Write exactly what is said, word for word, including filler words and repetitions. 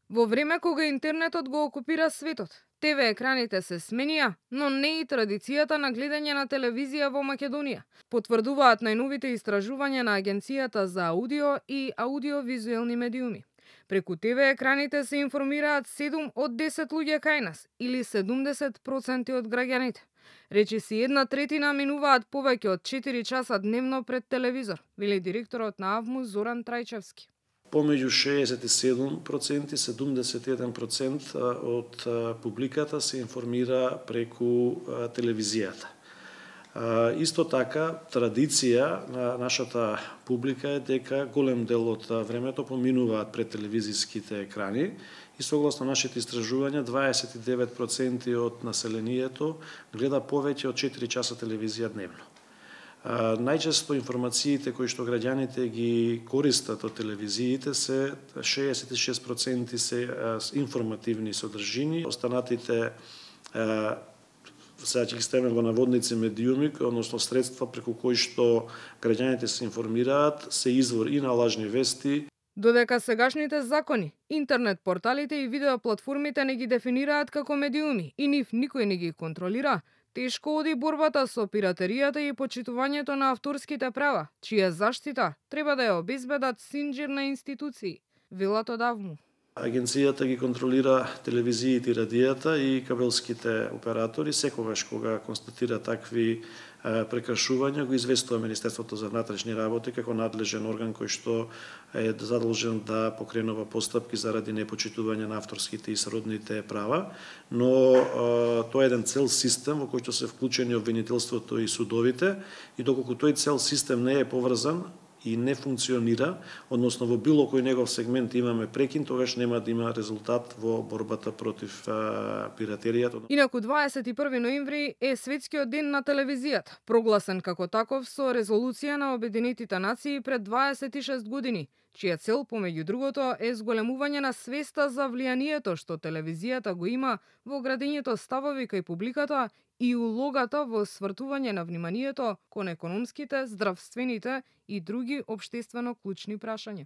Во време кога интернетот го окупира светот, те ве екраните се сменија, но не и традицијата на гледање на телевизија во Македонија, потврдуваат најновите истражувања на Агенцијата за аудио и аудиовизуелни медиуми. Преку те ве екраните се информираат седум од десет луѓе кај нас, или седумдесет проценти од граѓаните. Речиси една третина минуваат повеќе од четири часа дневно пред телевизор, вели директорот на АВМУ Зоран Трајчевски. Помеѓу шеесет и седум проценти, седумдесет и еден процент од публиката се информира преку телевизијата. Исто така, традиција на нашата публика е дека голем дел од времето поминуваат пред телевизиските екрани и согласно нашите истражувања дваесет и девет проценти од населението гледа повеќе од четири часа телевизија дневно. Најчесто информациите кои што граѓаните ги користат од телевизиите се шеесет и шест проценти се информативни содржини, останатите сега ќе ги ставиме во наводници медиуми, односно средства преку кои што граѓаните се информираат, се извор и на лажни вести. Додека сегашните закони, интернет порталите и видеоплатформите не ги дефинираат како медиуми и нив никој не ги контролира, тешко оди борбата со пиратеријата и почитувањето на авторските права, чија заштита треба да ја обезбедат синџир на институции, велат од АВМУ. Агенцијата ги контролира телевизиите и радијата и кабелските оператори. Секогаш кога констатира такви прекршувања, го известува Министерството за внатрешни работи како надлежен орган кој што е задолжен да покренува постапки заради непочитување на авторските и сродните права, но тоа е еден цел систем во кој што се вклучени обвинителството и судовите, и доколку тој цел систем не е поврзан и не функционира, односно во било кој негов сегмент имаме прекин, тогаш нема да има резултат во борбата против а, пиратеријата. Инаку дваесет и први ноември е светскиот ден на телевизијата, прогласен како таков со резолуција на Обединетите нации пред дваесет и шест години, чија цел, помеѓу другото, е зголемување на свеста за влијанието што телевизијата го има во градењето ставови кај публиката и улогата во свртување на вниманието кон економските, здравствените и други општествено клучни прашања.